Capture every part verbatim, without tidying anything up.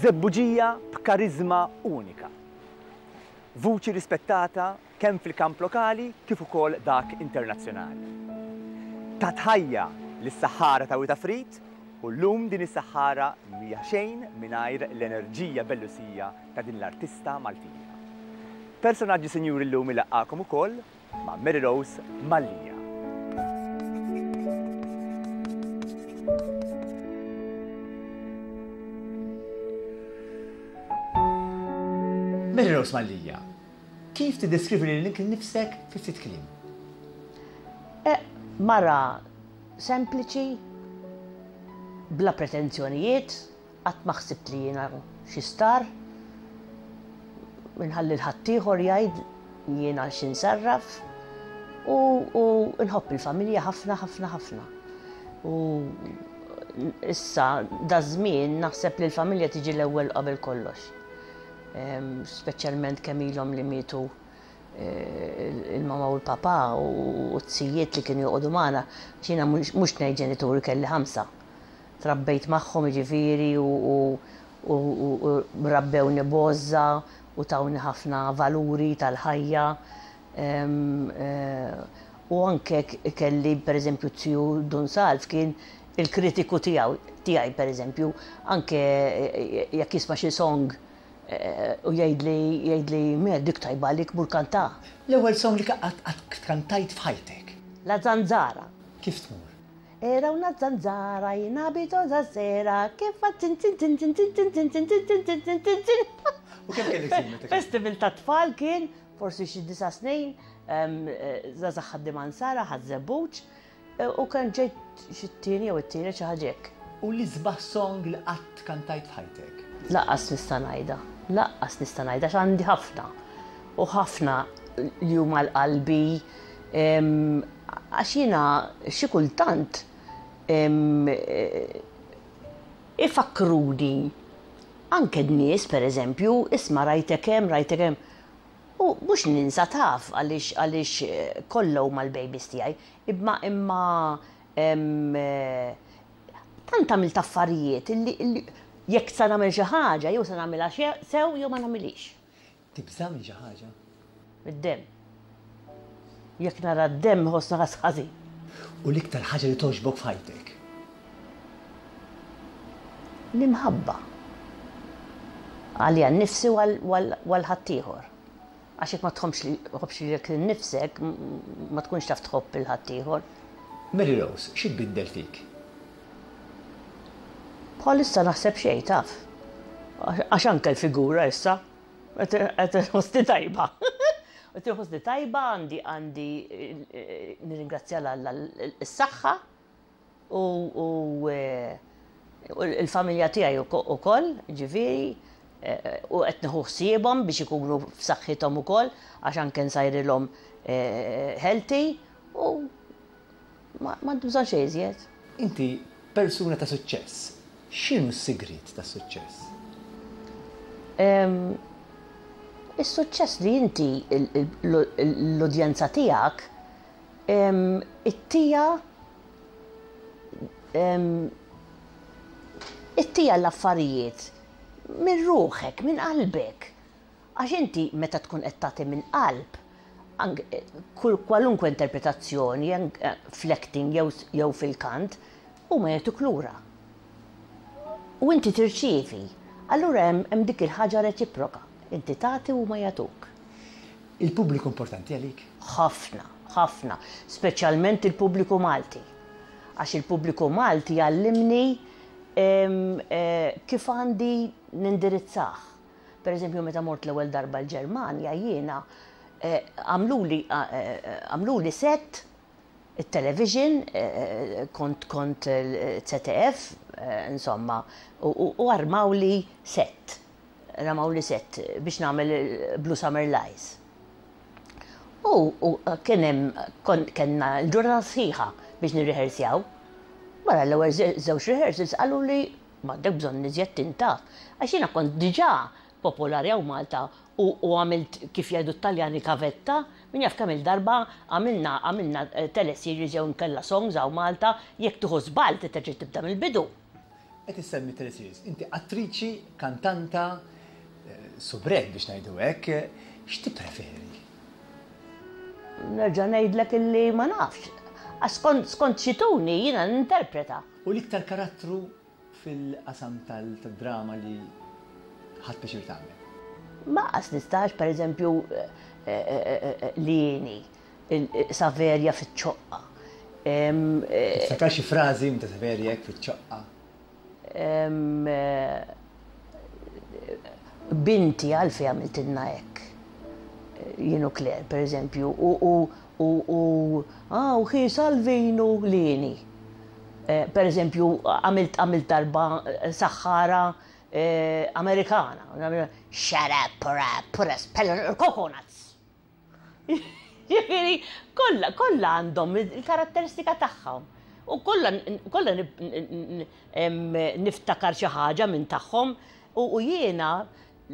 Żebbuġija b'kariżma unika. Vuċi rispettata kemm fil-kamp lokali kif ukoll dak internazzjonali. Tat ħajja lis-saħħara ta' Wied Għafrid u llum din is-saħħara mhija xejn mingħajr l-enerġija bellusija ta' din l-artista Maltija. Personaġġi sinjuri llum ilaqqakom ukoll ma' Mary Rose Mallia. Mary Rose Mallia, kif tiddeskrivi lilek innifsek fi ftit kliem? Eh, mara sempliċi, bla pretenzjonijiet, qatt ma ħsibt li jiena xi star, minħalli l-ħaddieħor jgħid jiena x'insarraf u, u nħobb il-familja ħafna ħafna ħafna. U issa da żmien naħseb li l-familja tiġi l-ewwel qabel kollox. Speċjalment kemm ilhom li mietu eh, il-mama u l-papa u t-sijiet li kienu joqogħdu magħna, jiena mhux ngħid ġenituri kelli ħamsa. Trabbejt magħhom jiġifieri u, u, u, u rabbewni b'għożża u tawni ħafna valuri tal-ħajja. Eh, u anke kelli per eżempju ziju Dun Salv kien il-kritiku tiegħu tiegħi per eżempju, anke eh, jekk jisma' xi song eh, u jgħidli jgħidli me dik tajba għalik mur kanta. L-ewwel song li qatt kantajt f'ħajtek. La Zanzara. Kif tmur? Era una zanzara in abito da sera che fa tin tin tin tin tin tin tin tin tin tin tin tin tin tin. U kemm kellek snin meta Festival ta' tfal kien, forsi xi disa' snin, żgħażagħ ħaddiema Nsara, Ħaż-Żebbuġ, u kien ġejt xi t-tieni jew it-tielet xi ħaġa hekk. U l-isbaħ song li qatt kantajt f'ħajtek? Lanqas nista' ngħidha, lanqas nista' ngħidha għax għandi ħafna. U ħafna li huma l-qalbi, għax jiena xi kultant ifakkruni anke n-nies per eżempju, isma' rajtek hemm, rajtek hemm. U mhux ninsa taf għaliex għaliex kollha huma l-babies tiegħi, imma imma tant għamilt affarijiet illi jekk se nagħmel xi ħaġa jew se nagħmilha sew jew ma nagħmilhiex. Tibża' minn xi ħaġa? Mid-demm. Jekk nara d-demm ħossna ħass ħażin. U l-iktar ħaġa li togħġbok f'ħajtek? L-imħabba. Għalija nnifsi u għal ħaddieħor. Għax jekk ma tħobbx lilek innifsek, ma tkunx taf tħobb il ħaddieħor. Mary Rose, xi tbiddel fik? Bħalissa naħseb xejn taf. Għax anke l-figura issa qed inħossni tajba. Qed inħossni tajba għandi għandi nirringrazzja 'l Alla s-saħħa u l-familja tiegħi ukoll, ġifieri, u qed nieħu ħsiebhom biex ikunu f'saħħithom ukoll għax anke nsajrilhom healthy u ma bżonn xejn iżjed. Inti persuna ta' suċċess. X'inhu s-sigriet tas suċċess? Is-suċċess li inti l-udjenza tiegħek ittija ittija l-affarijiet minn ruħek, minn qalbek. Għax inti meta tkun qed tagħti minn qalb, kwalunkwe interpretazzjoni fl-acting jew fil-kant, huma jagħtuk lura. U inti tirċievi. Allura hemm dik il-ħaġa reċiproka. Inti tagħti u ma jagħtuk. Il-pubbliku importanti għalik? Ħafna, ħafna, speċjalment il-pubbliku Malti. Għax il-pubbliku Malti jgħallimni kif għandi nindirizzah. Per eżempju, meta mort l-ewwel darba l-Ġermanja jiena għamluli għamluli set il-television, kont kont Z D F, insomma, u armawli set. Ramawli set biex nagħmel Blue Summer Lies. U kien hemm kellna l-ġurnata sħiħa biex nirrehearsjaw. Wara l-ewwel żewġ rehearsals qalu li m'għandek bżonn iżjed tintaf. Għax jiena kont diġà popolari hawn Malta u għamilt kif jgħidu t-Taljani gavetta, min jaf kemm il-darba għamilna għamilna teleseries jew nkella songs hawn Malta, jekk tieħu żball terġa' tibda mill-bidu. Qed issemmi teleseries. Inti attriċi, kantanta, eh, soubrette biex ngħidu hekk, x'tippreferi? Nerġa' ngħidlek illi ma nafx. Għax skont skont x'jtuni jiena ninterpreta. U l-iktar karattru fil-qasam tal-drama li ħadt pjaċir tagħmel? Ma qas nistax, per eżempju, li jieni, Saverja fiċ-ċoqqa. Tiftakar xi frażi minn ta' Saverja hekk fiċ-ċoqqa? Eh, binti għalfejn għamiltilna hekk. Jien u Claire, per eżempju, u u u u ah, u ħi Salvinu lini. Eh, per eżempju, għamilt għamilt darba eh, saħħara Amerikana. Shut up, put a, put a spell on coconuts. Ġifieri, kollha kollha għandhom il-karatteristika tagħhom. U kollha kollha niftakar xi ħaġa minn tagħhom u jiena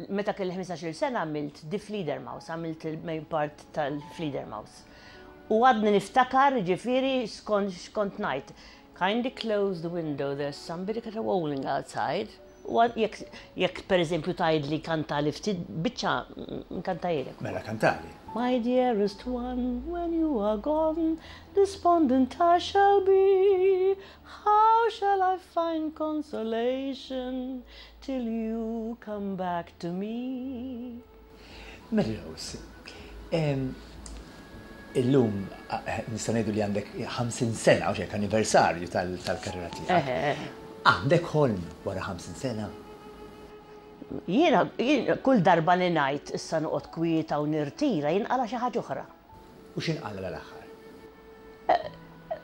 meta kelli ħmistax-il sena għamilt Die Fledermaus, għamilt il-main part tal-Fledermaus. U għadni niftakar, ġifieri, skont ngħid. "Kindly close the window, there's somebody caterwauling outside." U jekk, jekk per eżempju tgħidli kantali ftit biċċa, nkantahielek. Mela kantali. My dearest one, when you are gone, despondent I shall be. How shall I find consolation till you come back to me? Mary Rose, illum nista' ngħidu li għandek ħamsin sena u xek anniversarju tal-karriera tiegħek. Għandek ħolm wara ħamsin sena? Jiena, kull darba li ngħid issa noqgħod kwieta u nirtira, jinqala xi ħaġa oħra. U x'inqala l-aħħar?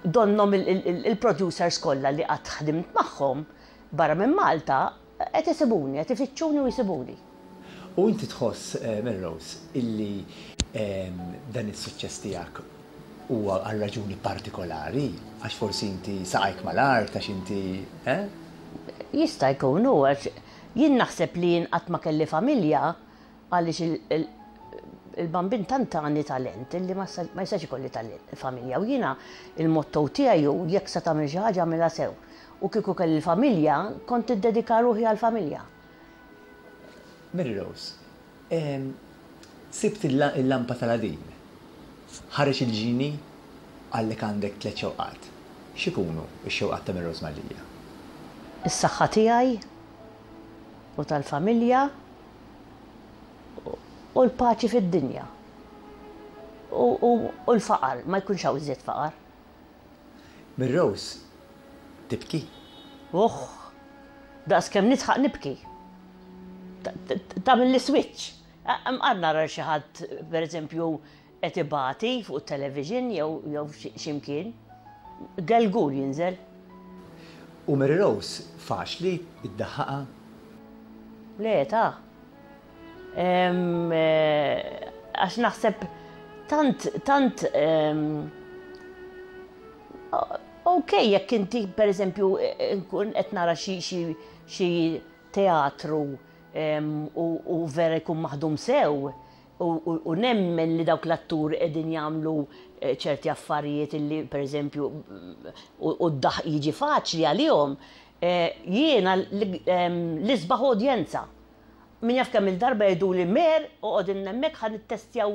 Donnom il-producers kollha li qatt ħdimt magħhom barra minn Malta qed isibuni, qed ifittxuni u jsibuni. U inti tħoss, eh, Mary Rose, illi dan is-suċċess tiegħek huwa għal raġuni partikolari, għax forsi inti saqajk mal-art, għax inti, eh? Jista' jkun hu, għax jien naħseb li jien qatt ma kelli familja għaliex il-Bambin tant tani talent illi ma jistax ikolli familja. U jiena il-motto tiegħi hu jekk se tagħmel xi ħaġa, agħmilha sew. U kieku kelli familja, kont iddedika ruħi għall-familja. Mary Rose, sibt il-lampa tal-Aladin. Ħareġ il-ġini, qallek għandek tliet xewqat. X'ikunu x-xewqat ta' Mary Rose Mallia? Is-saħħa tiegħi u tal-familja u l-paċi fid-dinja. U l-faqar, ma jkunx hawn iżjed faqar. Mary Rose, tibki? Uħ, daqs kemm nidħaq nibki. Tagħmel l-switch. Għad nara xi ħadd, per eżempju, qed ibati fuq television jew jew x'imkien. Gelgul jinżel. U Mary Rose faċli iddaħħaqha? Le, ta' għax naħseb tant, tant, ok, jekk inti per eżempju nkun qed nara xi teatru u vera jkun maħdum sew u nemmen li dawk l-attur qegħdin jagħmlu ċerti affarijiet illi per eżempju u d-daħq jiġi faċli għalihom, jiena l-isbaħ udjenza. Min jaf kemm il-darba jgħidu li mer oqgħod hemmhekk ħa nittestjaw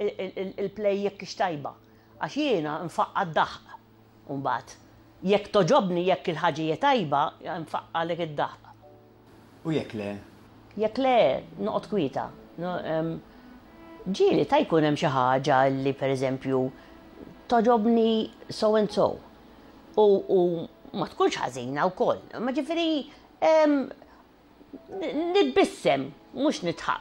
il-play jekk tajba. Għax jiena nfaqqa d-daħq. Mbagħad jekk togħġobni, jekk il-ħaġa hija tajba, nfaqqalek id-daħq. U jekk le? Jekk le, noqgħod kwieta. Ġieli ta' jkun hemm xi ħaġa li pereżempju togħġobni so and so. U ma tkunx ħażina wkoll. Ma ġifieri nitbissem, mhux nidħaq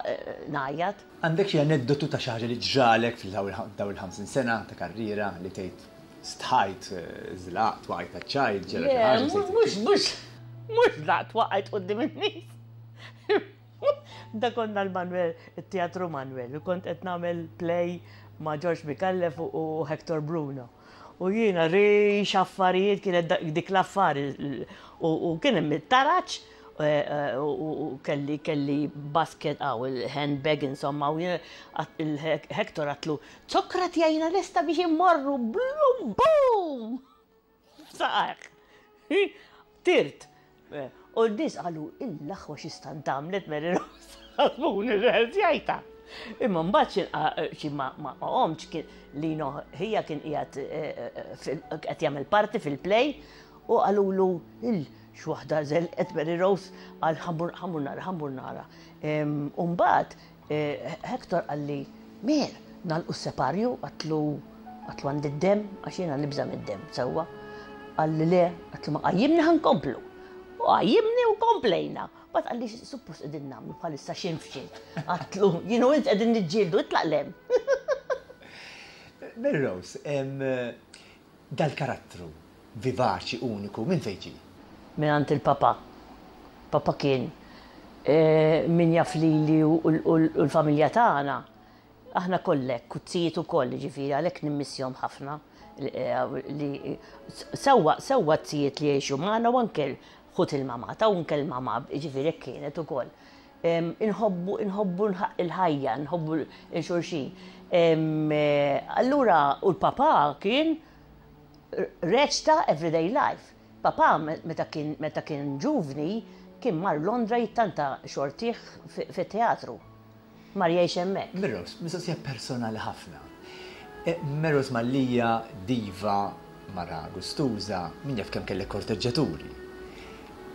ngħajjat. Għandek xi aneddotu ta' xi ħaġa li ġralek fil-daw il-ħamsin sena ta' karriera li tgħid stħajt, żlaqt, waqajt taċ-ċajt, ġara xi ħaġa? Mhux, mhux, mhux żlaqt, waqajt quddiem in-nies. Da konna l-Manuel, il-Teatru Manuel, u kont qed nagħmel play ma' George Micallef u Hector Bruno. U jiena rix affarijiet kienet dik l-affari u kien hemm it-taraġ u kelli kelli basket għaw il-handbag insomma u il-Hector għedtlu "Zokra tjajna lesta biex immorru", blum bum! Saqaq. Tirt. U n-nies qalu, il-laħwa xi stant għamlet Mary Rose, ħasbuni rreħżjajta. Imma mbagħad xi ma qomx kien Lino ħija kien qiegħed qed jagħmel parti fil-play u qalulu il x'waħda żelqet Mary Rose qal ħa mmur nara, ħa mmur nara. U mbagħad Hector qalli, Mer, nagħlqu s-separju, għedtlu għedtlu għandi d-dem, għax jiena nibża' mid-dem, sewwa. Qalli le, għedtlu ma qajjimni ħa nkomplu. U qajjimni u komplejna. Mbagħad qalli suppost qegħdin nagħmlu bħalissa xejn f'xejn. Għedtlu, jien u int qegħdin niġġieldu, itlaq 'l hemm. Mary Rose, dal-karattru vivaċi uniku minn fejn ġie? Minn għand il-papa. Papa kien min jaf lili u l-familja tagħna. Aħna kollek, kuzzijiet ukoll, ġifieri għalhekk nimmissjahom ħafna li sewwa sewwa tzijiet li jgħixu magħna u anke ħut il-mama ta' u anke l-mama ġifieri hekk kienet ukoll. Inħobbu inħobbu il-ħajja, nħobbu il-xulxin. Allura u l-papa kien reċta everyday life. Papa meta kien meta kien ġuvni kien mar Londra jittanta xortih fit-teatru. Mar jgħix hemmhekk. Mary Rose, mistoqsija personali ħafna. Mary Rose Mallia, diva, mara gustuża, min jaf kemm kellek korteġġaturi.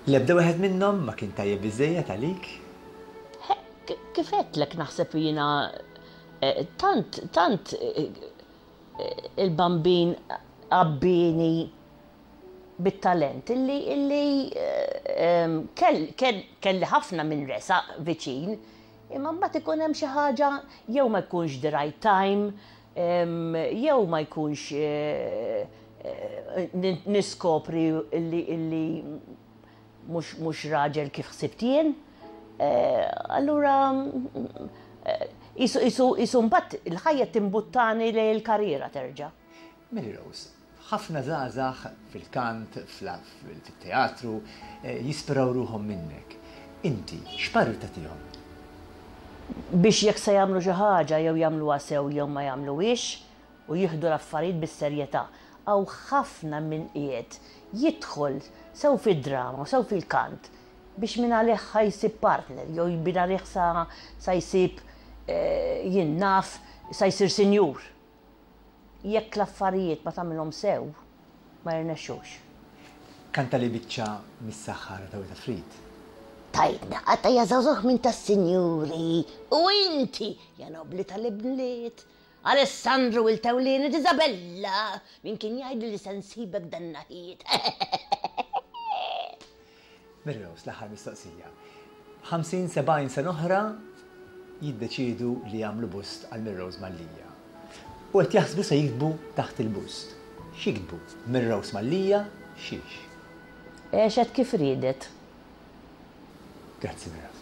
L-ebda wieħed minnhom ma kien tajjeb biżejjed għalik? Kif għedtlek naħseb jiena tant tant il-bambin għabbini bit-talent illi illi kelli ħafna minn resaq viċin, imma mbagħad ikun hemm xi ħaġa jew ma jkunx the right time, jew ma jkunx niskopri illi illi mhux raġel kif ħsibt jien. Allura isu mbagħad il-ħajja timbuttani lejn il-karriera terġa'. Mary Rose, ħafna żgħażagħ fil-kant, fil-teatru, jispiraw ruħhom minnek. Inti, x'parir tagħtihom? Biex jekk se jagħmlu xi ħaġa jew jagħmluha sew jew ma jagħmluhiex u jieħdu l-affarijiet bis-serjetà. Hawn ħafna min qiegħed jidħol sew fid-drama u sew fil-kant biex minn għalih ħa jsib partner jew minn għalih sa jsib jien naf sa jsir sinjur. Jekk l-affarijiet ma tagħmilhom sew, ma jirnexxux. Kanta li biċċa mis-saħħara ta' Wita Frid. Tajtna qata ja żagħżugħ minn tas-sinjuri u inti ja nobli tal-ibliet. Alessandro il-Tewlini Isabella, min kien jgħid li se nsibek dan naħiet. Mary Rose, l-aħħar mistoqsija. ħamsin sebgħin sena oħra jiddeċidu li jagħmlu bust għal Mary Rose Mallia. U qed jaħsbu se jiktbu taħt il-bust. X'jiktbu? Mary Rose Mallia xiex? Għexet kif riedet. Grazzi Mary Rose.